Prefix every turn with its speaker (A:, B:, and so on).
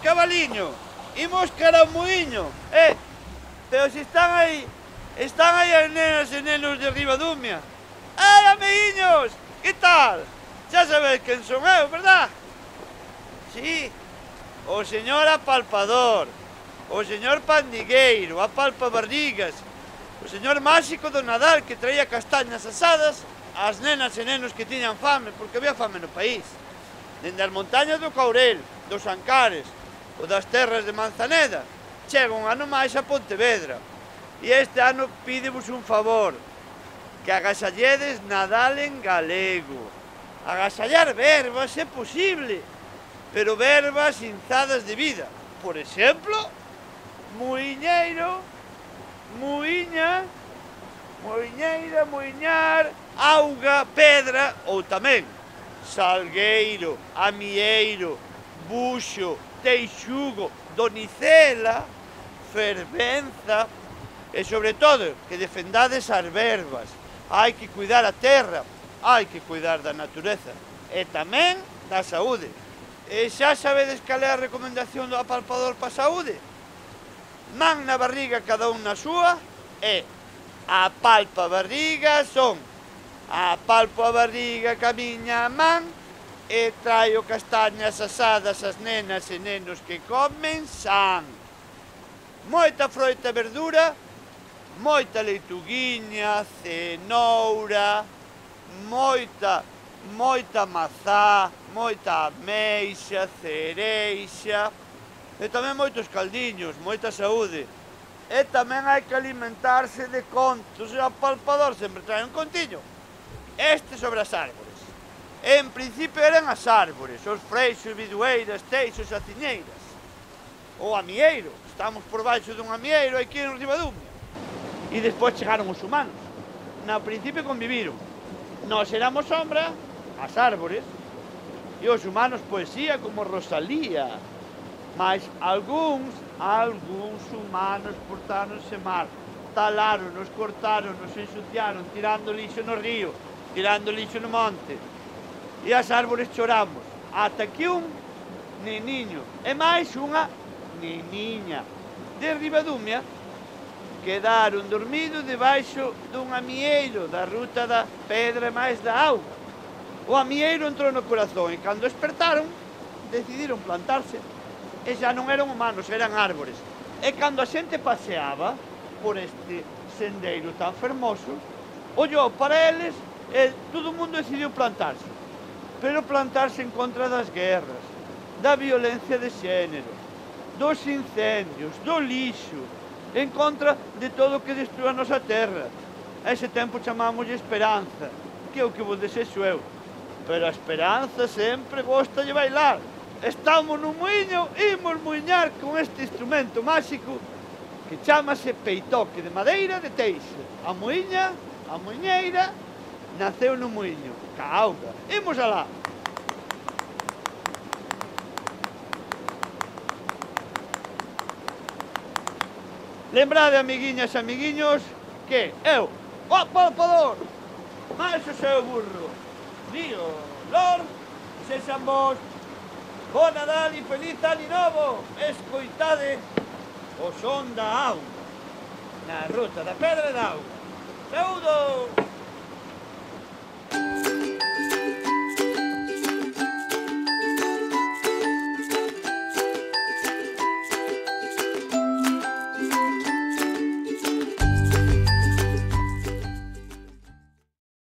A: cabaliño, imos cara ao muiño, pero se están aí as nenas e nenos de Ribadumia. Amiguiños, que tal? Xa sabedes quen son eu, verdad? Sí, o señor apalpador, o señor pandigueiro, apalpabarrigas, o señor máxico do Nadal que traía castañas asadas ás nenas e nenos que tiñan fame, porque había fame no país. Dende as montañas do Caurel, dos Ancares ou das terras de Manzaneda, chega un ano máis a Pontevedra. E este ano pídevos un favor, que agasalledes Nadal en galego. Agasallar verbas é posible, pero verbas inzadas de vida. Por exemplo, muiñeiro, muiña, muiñeira, muiñar, auga, pedra, ou tamén salgueiro, amieiro, buxo, teixugo, donicela, fervenza, e sobre todo que defendades as verbas. Hai que cuidar a terra, hai que cuidar da natureza e tamén da saúde. E xa sabedes cal é a recomendación do apalpador para a saúde? Man na barriga cada un na súa e apalpa a barriga son apalpo a barriga ca miña man e traio castañas asadas ás nenas e nenos que comen san. Moita froita e verdura, moita leituguiña, cenoura, moita mazá, moita ameixa, cereixa e tamén moitos caldiños, moita saúde. E tamén hai que alimentarse de contos, e o apalpador sempre trae un contiño. Este sobre as árbores. En principio eran as árbores, os freixos, bidueiras, teixos, aciñeiras. O amieiro, estamos por baixo dun amieiro aquí en Ribadumia. E despois chegaron os humanos. Na principio conviviron. Nós éramos sombra, as árbores, e os humanos poesía como Rosalía. Mas algúns humanos portáronse mal. Taláronos, cortáronos, ensuciaron, tirando lixo no río, tirando lixo no monte. E as árbores choramos. Ata que un neniño e máis unha neniña de Ribadumia quedaron dormidos debaixo dun amieiro da ruta da pedra e máis da auga. O amieiro entrou no corazón e cando despertaron decidiron plantarse e xa non eran humanos, eran árbores. E cando a xente paseaba por este sendeiro tan fermoso, ollou para eles e todo o mundo decidiu plantarse. Pero plantarse en contra das guerras, da violencia de xénero, dos incendios, do lixo, en contra de todo o que destrua a nosa terra. A ese tempo chamámoslle esperanza, que é o que vos desexo eu. Pero a esperanza sempre gosta de bailar. Estamos no muiño, imos muiñar con este instrumento máxico que chamase peitoque de madeira de teixe. A muiña, a muiñeira, naceu no muiño, ca auga. Imos alá. Lembrade, amiguiñas e amiguiños, que eu, o apalpador, máis o seu burro, Río Lor, sexan vos, bo Nadal e feliz ano novo, escoitade o son da auga, na ruta da pedra e da auga. Saúdo!